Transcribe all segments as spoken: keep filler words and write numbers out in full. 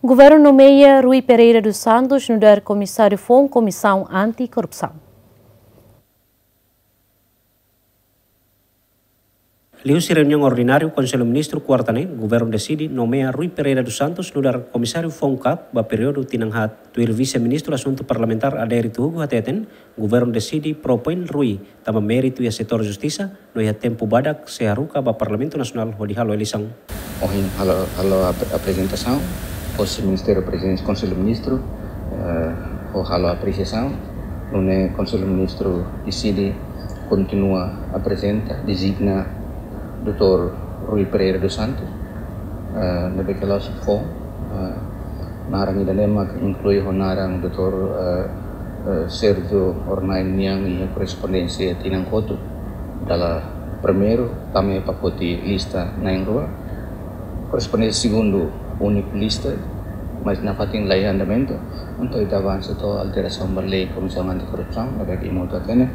Governu nomeia Rui Pereira dos Santos nu'udar Komisáriu Foun Komisaun Anti-Korrupsaun. Liuhusi reuniaun ordináriu Konsellu Ministru kuarta ne'e, Governu deside nomeia Rui Pereira dos Santos nu'udar Komisáriu Foun KAK ba períodu tinan haat. Tuir Vise-Ministru Asuntu Parlamentár Adérito Hugo hateten, Governu deside propoin Rui tanba méritu iha setór justisa, no iha tempu badak sei haruka ba Parlamentu Nasionál hodi halo eleisaun. Ohin halo, halo ap-, aprezentasaun hosi Ministériu Prezidénsia Konsellu Ministru, eh, hodi halo apresiasaun, nune'e Konsellu Ministru deside kontinua aprezenta, dezigna doutór Rui Pereira dos Santos, eh, ne'ebé ke la'ós foun, eh, naran ida-ne'e mak inklui ho naran doutór, eh, eh, Sérgio Hornai nian iha korrespondénsia tinan kotuk. Dala primeiru, tama iha pakote lista na'in-rua. Korrespondénsia segundu, úniku lista, mas nafatin laiha andamentu. Entaun ita avansa to'o alterasaun ba lei Komisaun Anti-Korrupsaun, ne'ebé ke imi hotu hatene,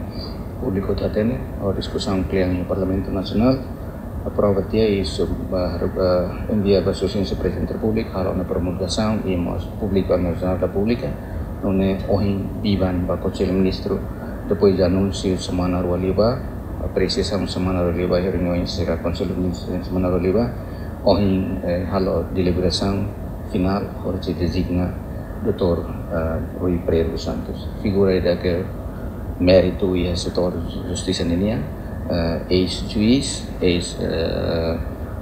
públiku hotu hatene, ho diskusaun kle'an iha Parlamentu Nasionál, aprova tiha i sub-, ba, ba, envia ba Sua Exelénsia Prezidente Repúblika, halo ona promulgasaun i mós publika iha Jornál da Públika, nune'e ohin biban ba Konsellu Ministru, depois de anúnsiu semana rua liubá, apresiasaun semana rua liubá, reuniaun sira Konsellu Ministru semana rua liubá, ohin, eh, halo deliberasaun finál, hodi dezigna doutór, eh, Rui Pereira dos Santos. Figura ida ke méritu iha setór justisa ninian, eh, eis-juís, eis, eh,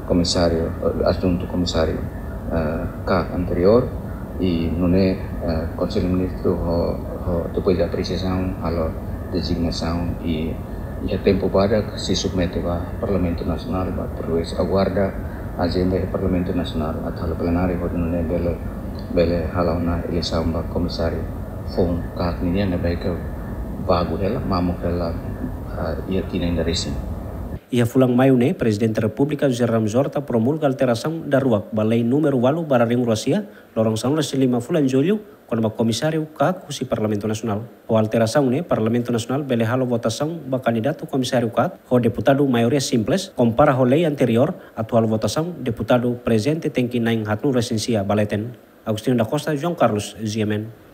komisáriu, eh, adjuntu komisáriu, eh, KAK anteriór, i nune'e, eh, Konsellu Ministru ho, ho, depois de apresiasaun, halo dezignasaun i iha tempu badak sei submete ba Parlamentu Nasionál, ba, perluis aguarda ajenda iha Parlamentu Nasionál atu halo plenáriu, hodi nune'e bele, bele hala'o ona eleisaun ba Komisáriu Foun KAK ninian ne'ebé ke vagu hela, mamuk hela, ah, iha tinan ida resin. Iha fulan Maiu ne'e, Prezidente Repúblika José Ramos Horta promulga alterasaun daruak ba lei númeru ualu barra rihun rua sia, loron sanulu-resin-lima fulan Jullu, kona-ba Komisáriu KAK husi Parlamentu Nasionál. Ho alterasaun ne'e, Parlamentu Nasionál bele halo votasaun ba kandidatu Komisáriu KAK ho deputadu maioria simples, kompara ho lei anteriór, atu halo votasaun deputadu prezente tenke na'in haatnulu-resin-sia ba leten. Agostinho da Costa, João Carlos, G M N.